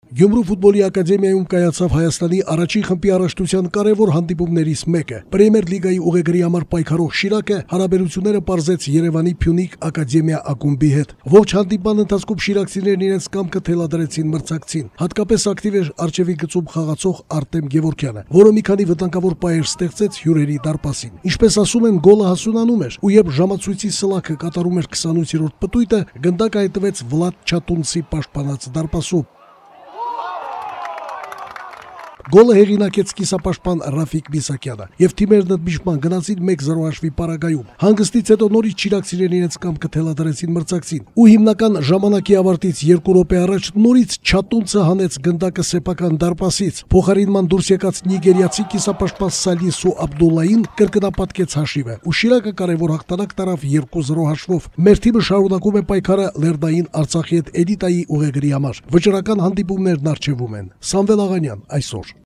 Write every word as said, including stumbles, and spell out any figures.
Գյումրու ֆուտբոլի ակադեմիայում կայացավ Հայաստանի առաջին խմբի առաջնության կարևոր հանդիպումներից մեկը։ Պրեմիեր լիգայի ուղեգրի համար պայքարող Շիրակը հարաբերությունները պարզեց Երևանի Փյունիկ ակադեմիա ակումբի հետ։ Ողջ հանդիպման ընթացքում շիրակցիներն իրենց կամքը թելադրեցին մրցակցին։ Հատկապես ակտիվ էր արջևի գծում խաղացող Արտեմ Գևորգյանը, որը մի քանի վտանգավոր պայեր ստեղծեց հյուրերի դարպասին։ Ինչպես ասում են, գոլը հասունանում էր, ու երբ ժամացույցի սլաքը կատարում էր քսանութերորդ պտույտը, գնդակը հայտնվեց Վլադ Չատունցի պաշտպանած դարպասում։ Գոլը հեղինակեց կիսապաշտպան Ռաֆիկ Միսակյանը, եւ թիմերն ընդմիջման գնացին մեկ զրո հաշվի պարագայում։ Հանգստից հետո նորից շիրակցիներն իրենց կամքը թելադրեցին մրցակցին, ու հիմնական ժամանակի ավարտից երկու րոպե առաջ նորից Չատունցը հանեց գնդակը սեփական դարպասից։ Փոխարինման դուրս եկած նիգերիացի կիսապաշտպան Սալիսու Աբդուլլային կրկնապատկեց հաշիվը, ու Շիրակը կարևոր հաղթանակ տարավ երկու զրո հաշվով։ Մեր թիմը շարունակում է պայքարը Լերնային Արցախի հետ էլիտայի ուղեգրի համար։ Վճռական հանդիպումներն առջևում են։ Սամվել Աղանյան այսօր։